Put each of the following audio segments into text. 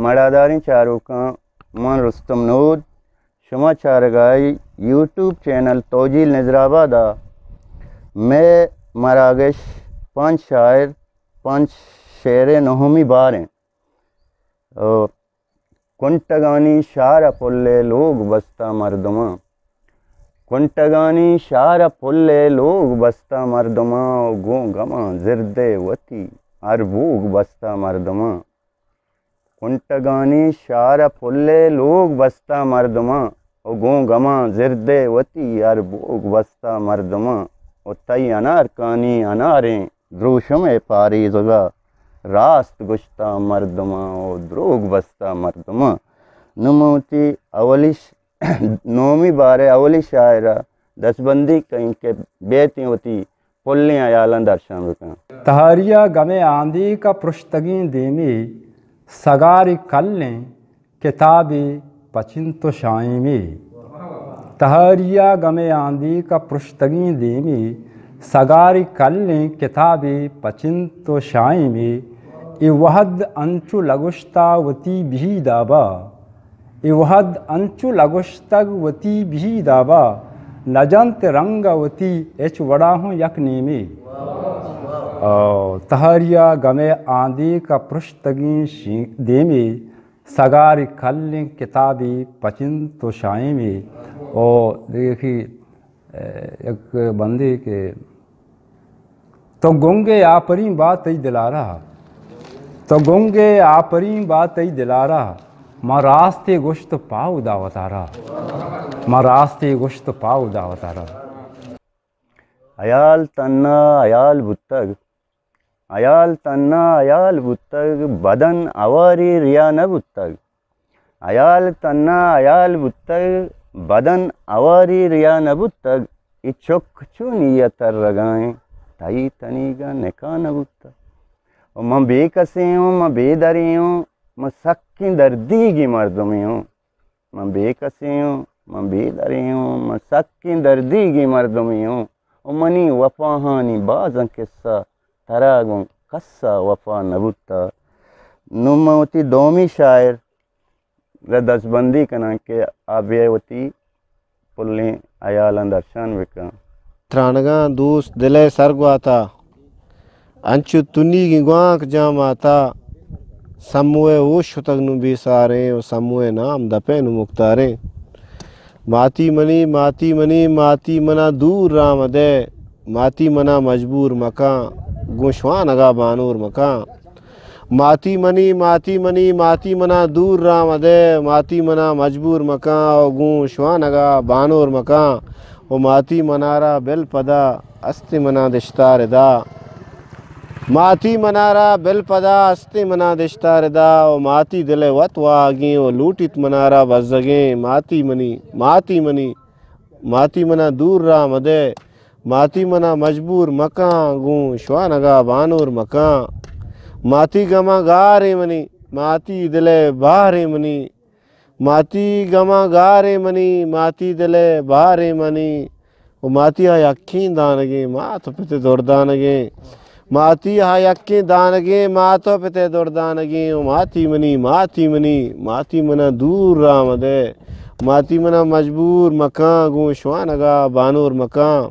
مڑاداریں چاروکاں، من رستم نود، شما چارگائی یوٹیوب چینل توجیل نظرآباد ءَ مئے مراگش پنچ شاعر، پنچ شعر ءِ نہمی بار ایں۔ او، کنٹگانی شار ءَ پل ءِ لوگ بستہ مردماں، کنٹگانی شار ءَ پل ءِ لوگ بستہ مردماں، او گوں گماں زرد ءِ وتی ہر بوگ بستہ مردماں۔ کنٹگانی شار ءَ پل ءِ لوگ بستہ مردماں، او گوں گماں زرد ءِ وتی ہر بوگ بستہ مردماں۔ او تئی انارکانی اناریں دروشم ءِ پاریزگ ءَ راست گوشتہ مردماں، او دروگ بستہ مردماں۔ نوں من وتی اولی ش-، نومی بار ءِ اولی شاعر ءَ دستبندی کئیں کہ بیتیں وتی پلیں ہیالاں درشان بکن۔ تہاری ءَ گم ءِ آندیک ءَ پرشتگیں دیمے، سگارے کلیں کتابے پچنت و شائیمے۔ تہاری ءَ گم ءِ آندیک ءَ پرشتگیں دیمے، سگارے کلیں کتابے پچنت و شائیمے۔ اے وہد انچو لگوشتہ وتی بہی دابا، اے وہد انچو لگوشتگ وتی بہی دابا، نجنت رنگ ءَ وتی ہچ وڑا ہوں یک نیمے۔ او تہاری ءَ گم ءِ آندیک ءَ پرشتگیں شی-، دیمے، سگارے کلیں کتابے پچنت و شائیمے۔ او دیکھی، اے، یک بندے کہ تو گنگ ئے آپرین با تئی دلارا، تو گنگ ئے آپرین با تئی دلارا، ما راستے گوشت پاو دا وتارا، ما راستے گوشت پاو دا وتارا۔ ہیال تہنا ہیال بوتگ، ہیال تہنا ہیال بوتگ، بدن ہواری ریا نہ بوتگ۔ ہیال تہنا ہیال بوتگ، بدن ہواری ریا نہ بوتگ۔ اے چک چونی ءَ ترگا ایں، تئی تنیگا نکاح نہ بوتگ۔ و من بے کسے اوں، من بے درے اوں، من سکیں دردیگیں مردمے اوں۔ من بے کسے اوں، من بے درے اوں، من سکیں دردیگیں مردمے اوں۔ و منی وفاہانی بازاں قصہ، ترا گوں کس ءَ وفا نہ بوتہ۔ نوں من وتی دومی شاعر ءَ دستبندی کناں کہ آ بیا وتی پلیں ہیالاں درشان بکن۔ ترانگاں دوست دل ءِ سر گواتا، انچو تنیگیں گوانک جام آتا، سمو ءِ ہوش شتگ نوں بے ساریں و سمو ءِ نام دپ ءَ نوں مکتاریں۔ ماتی منی، ماتی منی، ماتی منا دور راہ مدئے، ماتی منا مجبور مکن، گوں شوانگا بانور مکن۔ ماتی منی، ماتی منی، ماتی منا دور راہ مدئے، ماتی منا مجبور مکن و گوں شوانگا بانور مکن۔ و ماتی منارا بل پدا، استیں منا دشتار ادا۔ ماتی منارا بل پدا، استیں منا دشتار ادا۔ و ماتی دل ءِ وت واہگیں و لوٹیت منارا بزگیں۔ ماتی منی، ماتی منی، ماتی منا دور راہ مدئے، ماتی منا مجبور مکن، گوں شوانگا بانور مکن۔ ماتی گماں گاریں منی، ماتی دل ءِ باریں منی۔ ماتی گماں گاریں منی، ماتی دل ءِ باریں منی۔ و ماتی آ یکیں دانگیں، مات و پت ءِ دردانگیں۔ ماتی آ یکیں دانگیں، مات و پت ءِ دردانگیں۔ و ماتی منی، ماتی منی، ماتی منا دور راہ مدئے۔ ماتی منا مجبور مکن، گوں شوانگا بانور مکن۔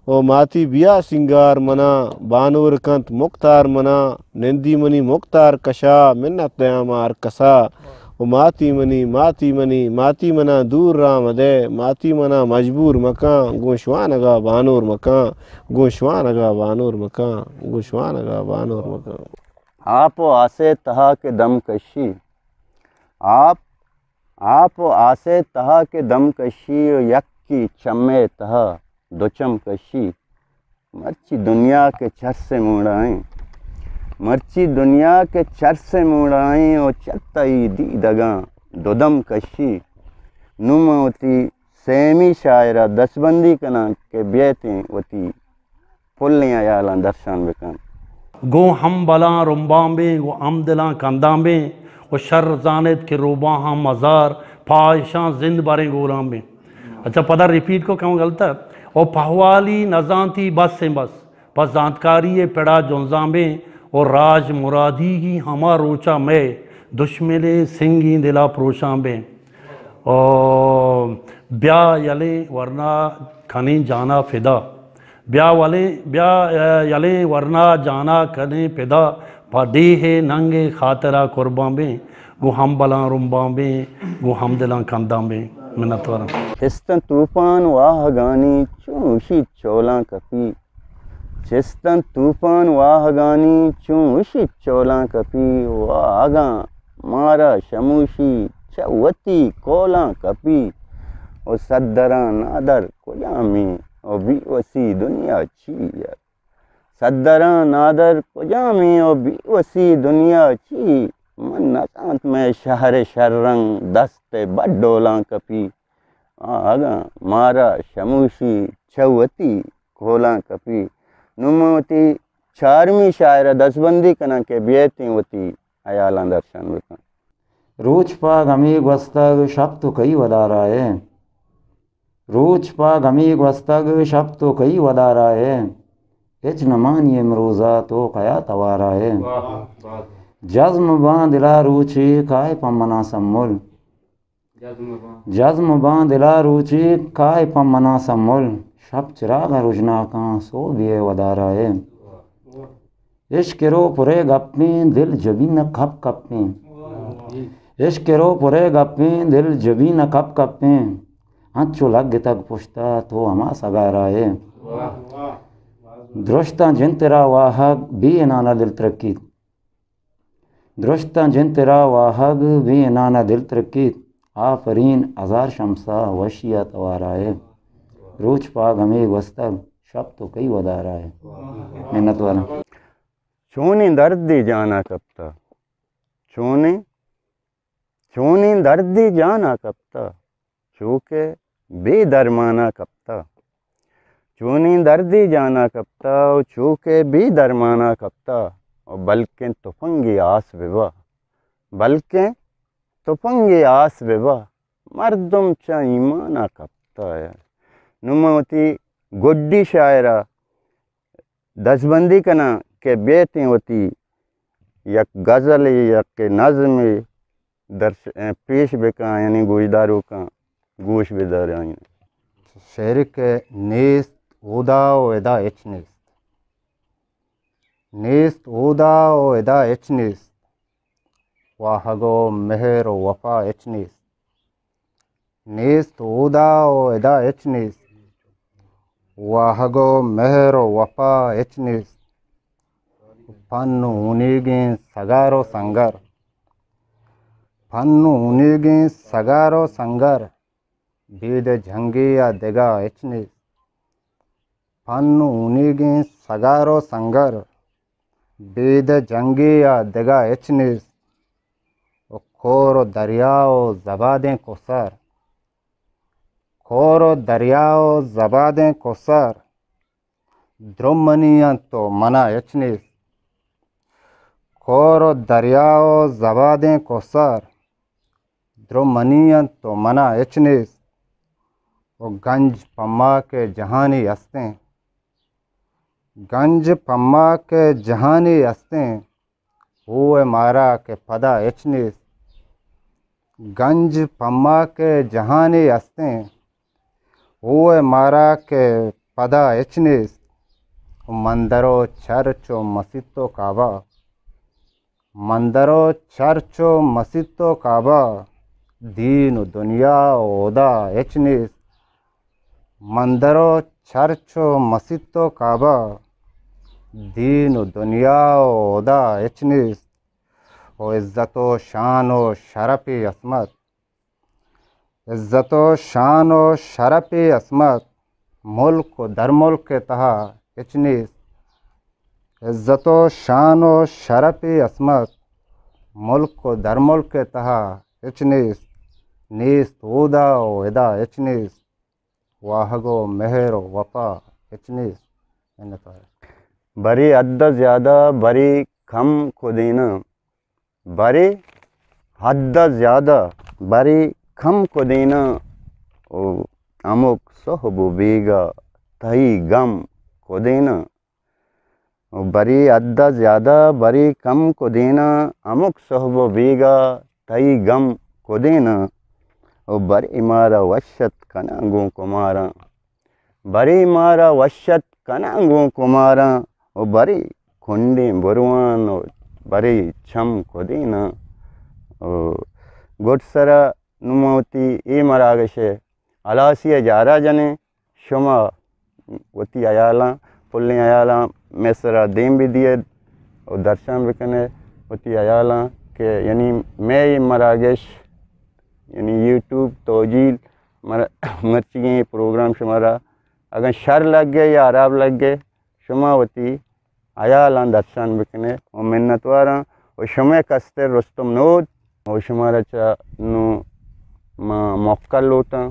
و ماتی بیا سینگار منا، بانور کنت مکتار منا۔ نندی منی مکتار کشا، منت دیاں ما ہر کسا۔ و ماتی منی، ماتی منی، ماتی منا دور راہ مدئے، ماتی منا مجبور مکن، گوں شوانگا بانور مکن، گوں شوانگا بانور مکن، گوں شوانگا بانور مکن۔ آپ و آس ءِ تہا کہ دم کشی، آپ، آپ و آس ءِ تہا کہ دم کشی و یکے چم ءِ تہا دو چم کشی، مرچی دنیا کہ چرس ءِ موڑا ایں، مرچی دنیا کہ چرس ءِ موڑا ایں و چہ تئی دیدگاں دو دم کشی۔ نوں من وتی سیمی شاعر ءَ دستبندی کناں کہ بیتیں وتی پلیں ہیالاں درشان بکن۔ گوں ہمبلاں رمباں بیں، گوں ہمدلاں کنداں بیں، و شر زانت کہ روباہاں مزار، پہ ایشاں زند بریں گوراں بیں۔ اچھا، پدا ریپیٹ کو، کم غلط ہے۔ او پہوالی نزانتی بس ایں بس، پہ زانتکاری ءِ پڑا جنزاں بیں، او راج مرادیگی ہما روچا مئے، دشمن سنگیں دلا پروشاں بیں۔ او بیا یلیں ورنا کنیں جانا فدا۔ بیا ولیں، بیا، اے، یلیں ورنا جانا کنیں پدا۔ پہ ڈیھ ننگ خاطرا قربان بیں۔ گوں ہمبلاں رمبان بیں، گوں ہمدلاں کندان بیں۔ منتواراں۔ چستاں توپان واہگانی چون اشیت چولاں کپی۔ چستاں توپان واہگانی چون اشیت چولاں کپی۔ واہگاں مارا شموشی چہ وتی کولاں کپی۔ او صدراں نادر کجامیں او بی وسی دنیا چی ء؟ صدراں نادر کجامیں او بی وسی دنیا چی؟ من نزانت مئے شہر شررنگ دست ء بڈولاں کپی۔ آ اگاں مارا شموشی چہ وتی کولاں کپی۔ نوں من وتی چارمی شاعر ء دزبندی کناں کہ بیئتیں وتی ہیالاں درشان بکن۔ روچ پاگ ہمے گوستگ، شپ تو کئی ودارا ئے؟ روچ پاگ ہمے گوستگ، شپ تو کئی ودارا ئے؟ ہچ نمانی امروزا تو کیا توارا ئے؟ واہ، واہ۔ جزم باں دلا روچے کائے پہ منا سمل۔ جزم باں۔ جزم باں دلا روچے کائے پہ منا سمل، شپ چراغ ء رژناکاں سہبے ء ودارا ئے۔ عشق ء رو پرے گپیں دل جبین ء کپ کپیں۔ عشق ء رو پرے گپیں دل جبین ء کپ کپیں، انچو لگتگ پشتا تو ہما سگارا ئے۔ درشتاں جن ترا واہگ بے انانا دل ترکیت۔ درشتاں جن ترا واہگ بے انانا دل ترکیت۔ آفرین ہزار شمسا وشیا توارا ئے۔ روچ پاگ ہمے گوستگ، شپ تو کئی ودارا ئے۔ منت واراں۔ چونیں دردے جانا کپتا، چونیں، چونیں دردے جانا کپتا۔ چو کہ بے درمانا کپتا۔ چونیں دردے جانا کپتا و چو کہ بے درمانا کپتا۔ و بلکیں تپنگے آس ببا، بلکیں تپنگے آس ببا، مردم چہ ایمانا کپتا۔ نوں من وتی گڈی شاعرا دزبندی کناں کہ بیتیں وتی یک غزلے، یک نظمے درش-، پیش بکاں، یعنی گوشداروکاں گوش بدارائیں۔ شعر کہ نیست اودا و ادا ہچ نیست۔ نیست اودا و ادا ہچ نیست۔ واہگ و مہر و وفا ہچ نیست۔ نیست اودا و ادا ہچ نیست۔ واہگ و مہر و وفا ہچ نیست۔ پن و ہونیگیں سگار و سنگر۔ پن و ہونیگیں سگار و سنگر۔ بید جنگے ء دگہ ہچ نیست۔ پن و ہونیگیں سگار و سنگر۔ بید جنگے ء دگہ ہچ نیست۔ و کور و دریا و زبادیں کوسر۔ کور و دریا و زبادیں کوسر۔ درو منی انت و منا ہچ نیست۔ کور و دریا و زبادیں کوسر۔ درو منی انت و منا ہچ نیست۔ و گنج پما کہ جہانی ہستیں۔ گنج پما کہ جہانی ہستیں۔ ہوئے مارا کہ پدا ہچ نیست۔ گنج پما کہ جہانی ہستیں۔ ہوئے مارا کہ پدا ہچ نیست۔ و مندر و چرچ و مسیت و کعبہ۔ مندر و چرچ و مسیت و کعبہ۔ دین و دنیا و ہدا ہچ نیست۔ مندر و چرچ و مسیت و کعبہ، دین و دنیا و ہدا ہچ نیست۔ و عزت و شان و شرپ عصمت، عزت و شان و شرپ عصمت، ملک و در ملک تہا ہچ نیست۔ عزت و شان و شرپ عصمت، ملک و در ملک تہا ہچ نیست۔ نیست اودا و ادا ہچ نیست۔ واہگ و مہر و وپا ہچ نیست۔ منت وار۔ برے حد ء زیادہ، برے کم کدیناں، برے حد ء زیادہ، برے کم کدیناں، او ہمک سہب و بیگاہ تئی گم کدیناں۔ و برے حد ءَ زیادہ، برے کم کدیناں، ہمک سہب و بیگا تئی گم کدیناں، و برے مارا وشت کناں گوں کماراں۔ برے مارا وشت کناں گوں کماراں، و برے کنڈیں بروان و برے چم کدیناں۔ و گڈ سرا نوں ما وتی اے مراگش ءِ ہلاسی ءَ جارا جنیں۔ شما وتی ہیالاں، پلیں ہیالاں مئے سرا دیم بدیئے و درشان بکنے وتی ہیالاں کہ یعنی مئے اے مراگش، یعنی یوٹیوب توجیل مر-، مرچیگیں پروگرام شمارا اگاں شر لگے یا ہراب لگے، شما وتی ہیالاں درشان بکنے و منتواراں و شمئے کستر رستم نود و شمارا چہ نوں ما موکل لوٹاں۔